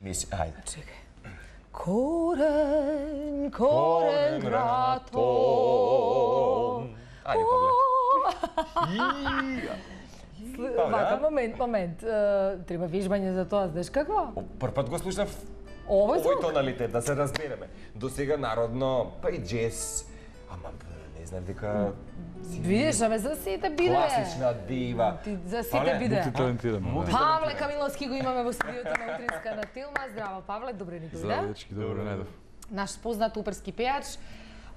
Мисли, ајде. Чекај. Корен гратом. Ајде, Павле. Вака, момент. Треба вежбање за тоа, знаеш какво? Прв пат го слушнав Овој звук? тоналитет, да се разбереме. До сега народно, па и джез, ама не знам дека Видиш, аме за сите биде. класична дива. За сите Павле, биде. Мултиталентирано. Павле Камиловски го имаме во студиото на Утринска на Тилма. Здраво, Павле, добре ни дојде. Здраво, дечки, добро најдов. Наш познат оперски пејач.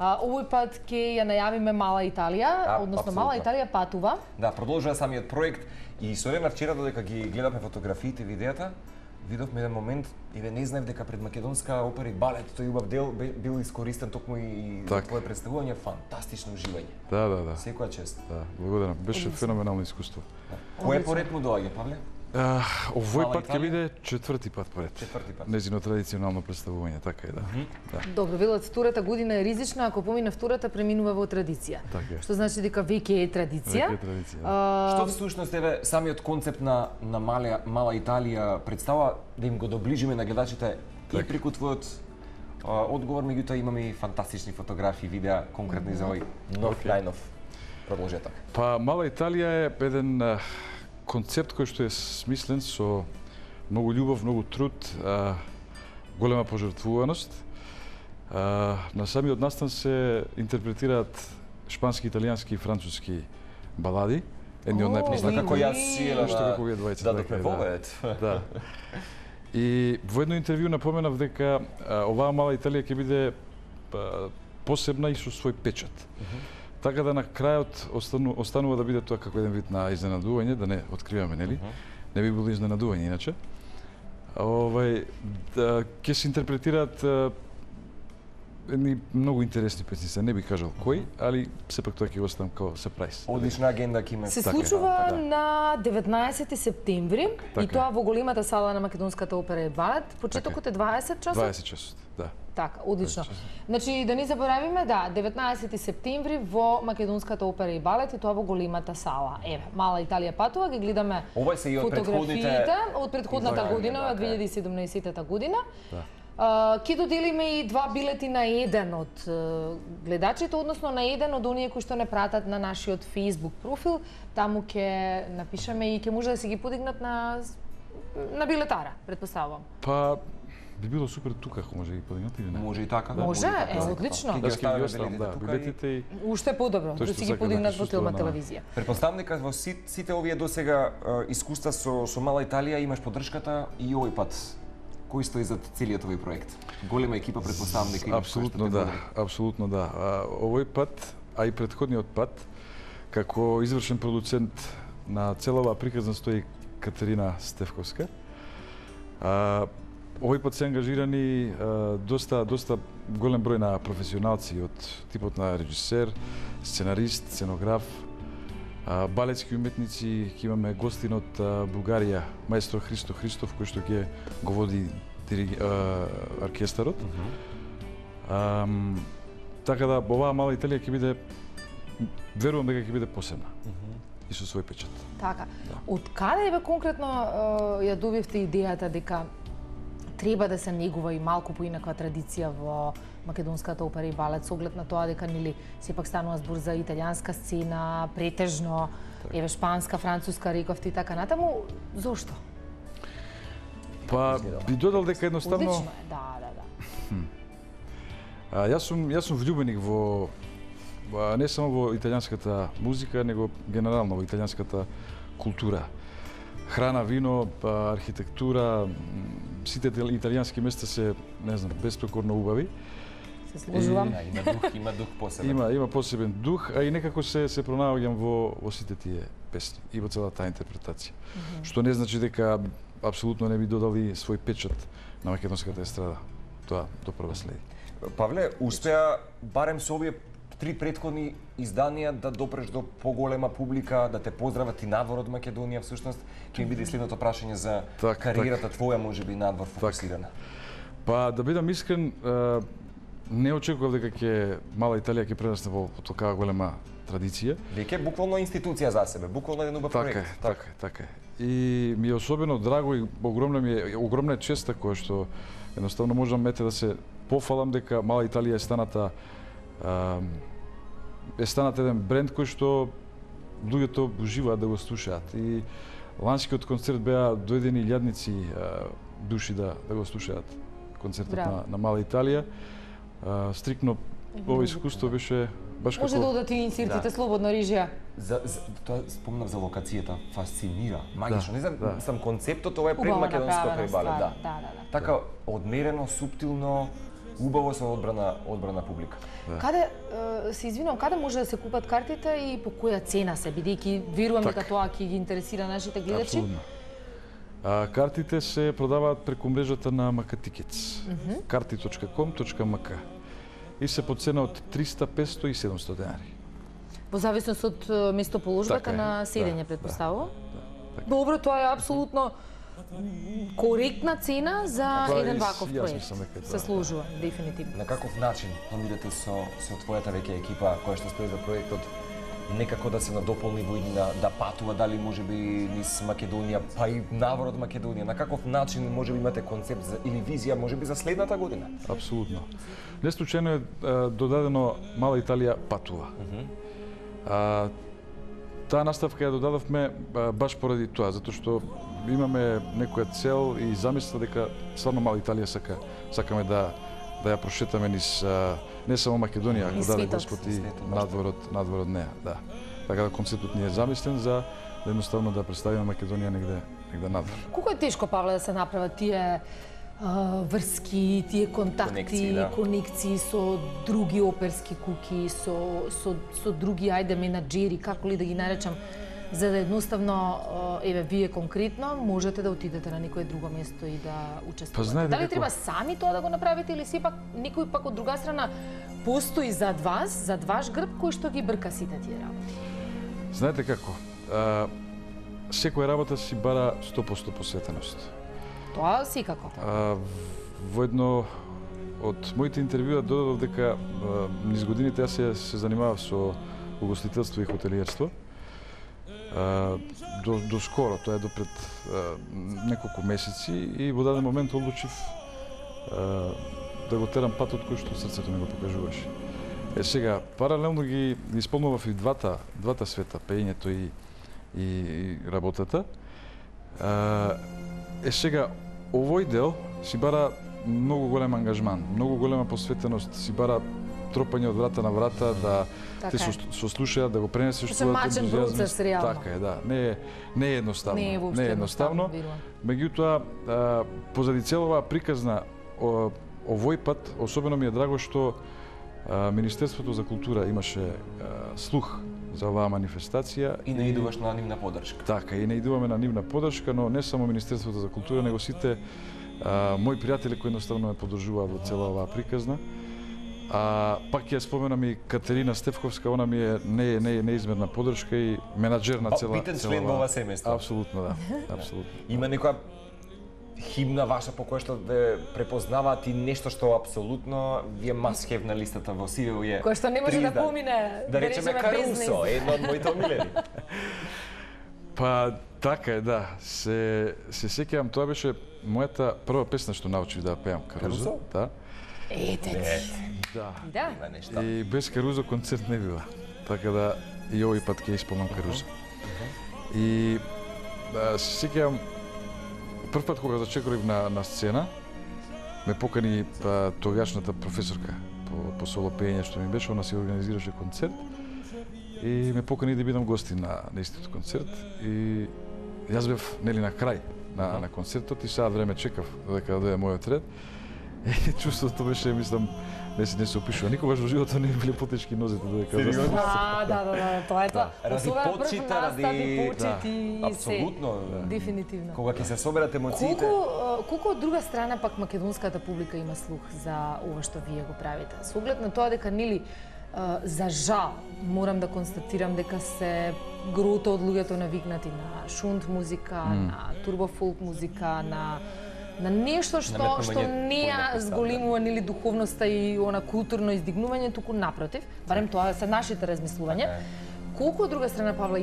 Овој пат ќе ја најавиме Мала Италија, односно Мала Италија патува. Да, продолжува самиот проект и со време вчера додека ги гледавме фотографиите, видеата, видовме еден момент и не знаев дека пред македонска опера и балет тој убав дел бил искористен токму и за твое представување, фантастично уживање. Да. Секоја чест. Да, благодарам. Беше феноменално искуство. Кој поред му доаѓа, Павле? Овој Мала пат ќе Италија? биде четврти пат поред. Четврти пат. Незино традиционално представување, така е, да. Добро, велат втората година е ризична, ако помине втората преминува во традиција. Така е. Што значи дека веќе е традиција. Веќе е традиција. Што всушност еве самиот концепт на Мала Италија представа да им го доближиме на гледачите и преку твојот одговор, меѓутоа имаме и фантастични фотографии, видеа конкретни за овој нов најнов продолжеток. Па Мала Италија е еден концепт кој што е смислен со многу љубов, многу труд, голема пожртвуваност. На самиот настан се интерпретираат шпански, италијански и француски балади, едни од најпознати. Како јас сиела Што како вие двајца. дадохме повед. Да. И во едно интервју напоменав дека оваа Мала Италија ќе биде посебна и со свој печат. Така да на крајот останува да биде тоа како еден вид на изненадување, да не откриваме, нели? Не би било изненадување иначе. Ќе се интерпретираат едни многу интересни песни, не би кажал кој, али сепак тоа ќе го оставам како сюрприз. Одлична агенда ќе има. Се случува на 19 септември и тоа во големата сала на Македонската опера и балет. Почетокот е 20 часот. 20 часот, да. Така, одлично. Значи, да не заборавиме, да, 19 септември во Македонската опера и балет и тоа во големата сала. Еве, Мала Италија патува, ги гледаме Ова се и од фотографиите од претходната година, од 2017 година. Ке доделиме и 2 билети на еден од гледачите, односно на еден од оние кои што не пратат на нашиот Facebook профил. Таму ќе напишеме и ќе може да се ги подигнат на билетара, претпоставувам. Па би било супер тука ако може да ги подигнат или не. Може и така. Може, одлично. Јас ќе ги оставам, да, билетите и Уште подобро, да си ги подигнат во Тилма телевизија. Претпоставам дека во сите овие досега искуства со Мала Италија имаш поддршката и овој пат. Кој стои зад целиот овој проект? Голема екипа, претпоставам дека имаш. Апсолутно да. Овој пат, а и претходниот пат, како извршен продуцент на цела оваа приказна стои Катерина Стефковска. Овој пат се ангажирани доста голем број на професионалци од типот на режисер, сценарист, сценограф, балетски уметници. Ќе имаме гостин од Бугарија, маестро Христо Христов, кој што ќе го води оркестарот. Така да, оваа Мала Италија ќе биде, верувам дека ќе биде посебна и со свој печат. Така. Од каде бе конкретно ја добивте идејата дека треба да се негува и малку поинаква традиција во Македонската опера и балет, со оглед на тоа дека нели сепак станува збор за италијанска сцена, претежно, еве шпанска, француска, рековте и така натаму. Зошто? Па би додал дека едноставно Одлично е, да. Јас сум влюбеник во не само во италијанската музика, него генерално во италијанската култура. Храна, вино, архитектура, сите италијански места се, не знам, беспрекорно убави. Се сложувам. Има дух посебен. Има посебен дух, а и некако се пронаоѓам во сите тие песни и во целата интерпретација. Што не значи дека апсолутно не би додали свој печат на македонската естрада. Тоа до прва следи. Павле, успеа барем со овие 3 претходни изданија да допреш до поголема публика, да те поздрават и надвор од Македонија, всушност ќе ми биде следното прашање за кариерата твоја, можеби надвор фокусирана. Па да бидам искрен, не очекував дека Мала Италија ќе прерасне во такава голема традиција. Веќе буквално институција за себе, буквално еден убав проект. Така е. И ми е особено драго и огромна честа која што едноставно можам да се пофалам дека Мала Италија е станат еден бренд кој што луѓето уживаат да го слушаат. И ланскиот концерт беа дојдени илјадници души да го слушаат концертот на Мала Италија. Стрикно ова искуство беше баш како... Може да одат и инсертите слободна режија. Тоа спомнав за локацијата, фасцинира, магично. Не знам, сам концептот ова е пред македонско крибале, да. Така одмерено, суптилно, убаво со одбрана публика. Каде се извинувам, каде може да се купат картите и по која цена се, бидејќи верувам дека тоа ќе ги интересира нашите гледачи? Апсолутно. Картите се продаваат преку мрежата на MK Tickets. karti.com.mk и се по цена од 300, 500 и 700 денари. Во зависност од местоположбата на седење, предпоставувам? Добро, тоа е апсолутно коректна цена за еден ваков проект. Се служува, дефинитивно. На каков начин планирате со твојата веќе екипа која што стои за проектот некако да се надополни во иднина, да патува дали можеби низ Македонија, па и навор од Македонија? На каков начин можеби имате концепт или визија можеби за следната година? Апсолутно. Не случајно е додадено Мала Италија патува. Таа наставка ја додадовме баш поради тоа, затоа што имаме некоја цел и замисла дека стварно Мала Италија сакаме да ја прошетаме низ не само Македонија, ако даде Господ и надвор од неа, да. Така да концептот ни е замислен за едноставно да представиме Македонија негде надвор. Колку е тешко, Павле, да се направат тие врски, тие контакти, конекции со други оперски куки, со други менаџери, како ли да ги наречам, за да едноставно, вие конкретно можете да отидете на некое друго место и да учествувате. Дали треба сами тоа да го направите или сепак некој пак од друга страна постои зад ваш грб, кој што ги брка сите тие работи? Знаете како, секоја работа си бара 100% посветеност. Тоа секако. Во едно од моите интервјуа додадов дека низ годините јас се занимавав со угостителство и хотелиерство. До скоро, тоа е до пред неколку месеци и во даден момент одлучив да го терам патот кој што срцето ми го покажуваше. Сега, паралелно ги исполнував и двата света, пеењето и работата. Сега, овој дел си бара многу голем ангажман, многу голема посветеност, си бара тропање од врата на врата, да те сослушаат, да го пренесеш својот ентузијазм. Така е, да. Не е едноставно. Не е едноставно. Меѓутоа, позади целова приказна овој пат, особено ми е драго што Министерството за култура имаше слух за оваа манифестација. И наидуваш на нивна поддршка. Така, и наидуваме на нивна поддршка, но не само Министерството за култура, него сите мои пријатели кои едноставно ме поддржуваат во цела оваа приказна. Пак ја споменам и Катерина Стефковска, она ми е неизмерна поддршка и менаџер на цела... Битен член во ова семејство. Апсолутно, да. Апсолутно. Има некоја химна ваша по која што ве препознаваат и нешто што апсолутно ви е must have на листата во CV? Кој што не може да помине, да речеме Карусо, едно од моите омилени. Па, така е, да. Се сеќавам, тоа беше мојата прва песна што научив да пеам, Карузо. Да. Ете. Да. И без Карузо концерт не бива. Така да и овој пат ќе исполнам Карузо. И се сеќавам прв пат кога зачекорив на сцена, ме покани тогашната професорка по соло пеење што ми беше, она си организираше концерт и ме покани да бидам гостин на истиот концерт и јас бев на крај на концертот и сега време чекав додека дојде мојот ред. И чувството беше, мислам, не се опишува. Никогаш во животот не биле потешки нозете додека застанав. Да, тоа е тоа. Ради почита, ради почити и се. Апсолутно. Дефинитивно. Кога ќе се соберат емоциите. Колку од друга страна пак македонската публика има слух за ова што вие го правите? Со оглед на тоа дека нели за жал морам да констатирам дека се грото од луѓето навикнати на шунт музика, на турбофолк музика, на нешто што не ја зголемува нели духовноста и она културно издигнување, туку напротив, барем тоа се нашите размислувања. Колку од друга страна, Павле,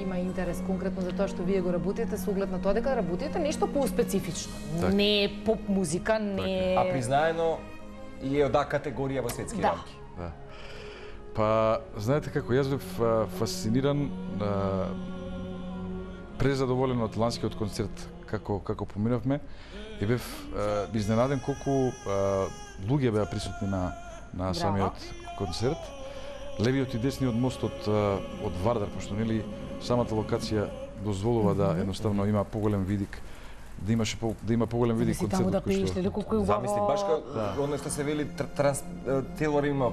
има интерес конкретно за тоа што вие го работите, со оглед на тоа дека работите нешто по-специфично. Не поп музика, не... А признаено и е од категорија во светски рамки. Да. Па, знаете како, јас бев фасциниран, презадоволен од ланскиот концерт како поминавме и бев изненаден колку луѓе беа присутни на самиот концерт. Левиот и десниот мост од Вардар, пошто нели самата локација дозволува да едноставно има поголем видик, да има поголем видик концертот кој што... Замисли, баш оно што се вели телор има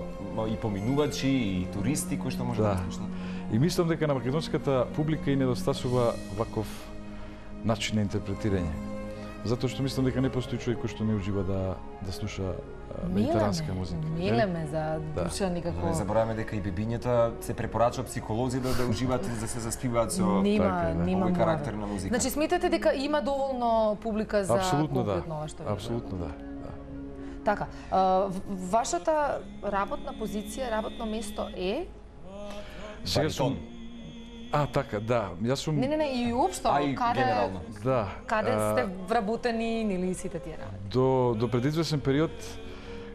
и поминувачи и туристи кои што може да слушнат. И мислам дека на македонската публика и недостасува ваков начин на интерпретирање. Затоа што мислам дека не постои човек кој што не ужива да слуша медитеранска музика. Милеме за душа никако. Не забораваме дека и бебињата се препорачува психолози да уживаат и да се заспиваат со овој карактер на музика. Значи сметате дека има доволно публика за конкретно ова што ви? Апсолутно да. Така, вашата работна позиција, работно место е? Сега сум... така, да. Јас сум... Не, и уопшто, каде... генерално. Да. Каде сте вработени или сите тие работи? До пред извесен период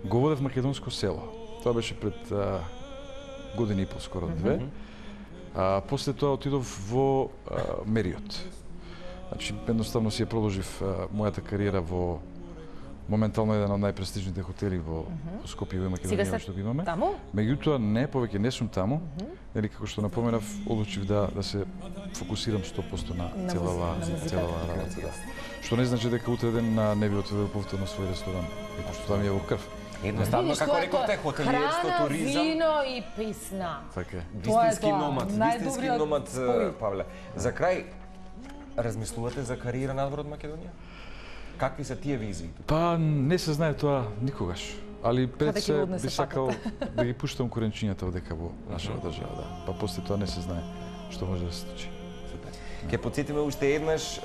го водев македонско село. Тоа беше пред година и пол, скоро две. После тоа отидов во Мериот. Значи, едноставно си ја продолжив мојата кариера во моментално еден од најпрестижните хотели во Скопје и Македонија што го имаме. Таму? Меѓутоа не, повеќе не сум таму. Нели како што напоменав, одлучив да се фокусирам 100% на целава работа. Што не значи дека утре ден не би отидел повторно свој ресторан, пошто тоа ми е во крв. Едноставно како рековте, хотелиерство, туризам. Храна, вино и песна. Така е. Вистински номад, Павле. За крај, размислувате за кариера надвор од Македонија? Какви се тие визии? Па не се знае тоа никогаш. Али пред се би сакал да ги пуштам коренчињата одека во нашата држава, да. Па после тоа не се знае што може да се случи. Ке потсетиме уште еднаш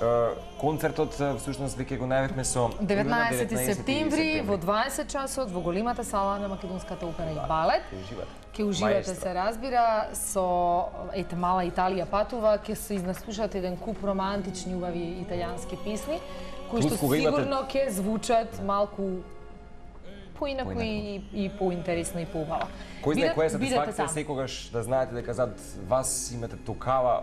концертот, всушност веќе го најавивме со 19 септември во 20 часот во големата сала на Македонската опера и балет. Ке уживате, се разбира, со Мала Италија патува, ке се изнаслушате еден куп романтични убави италијански песни кои што сигурно ќе звучат малку поинаку и поинтересно и поубаво. Кој знае која е сатисфакција секогаш да знаете дека зад вас имате токава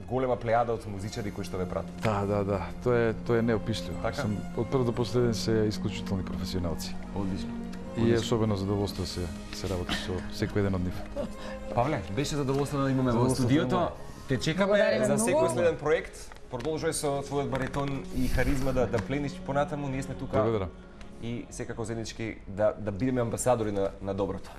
голема плејада од музичари кои што ве пратат. Да. Тоа е неопишливо. Сум од прв до последен се исклучителни професионалци. Одлично. И е особено задоволство се работи со секој еден од нив. Павле, беше задоволство да имаме во студиото. Те чекаме за секој следен проект. Продолжувај со твојот баритон и харизма да плениш понатаму. Ние сме тука. Благодарам. И секако заеднички да бидеме амбасадори на доброто.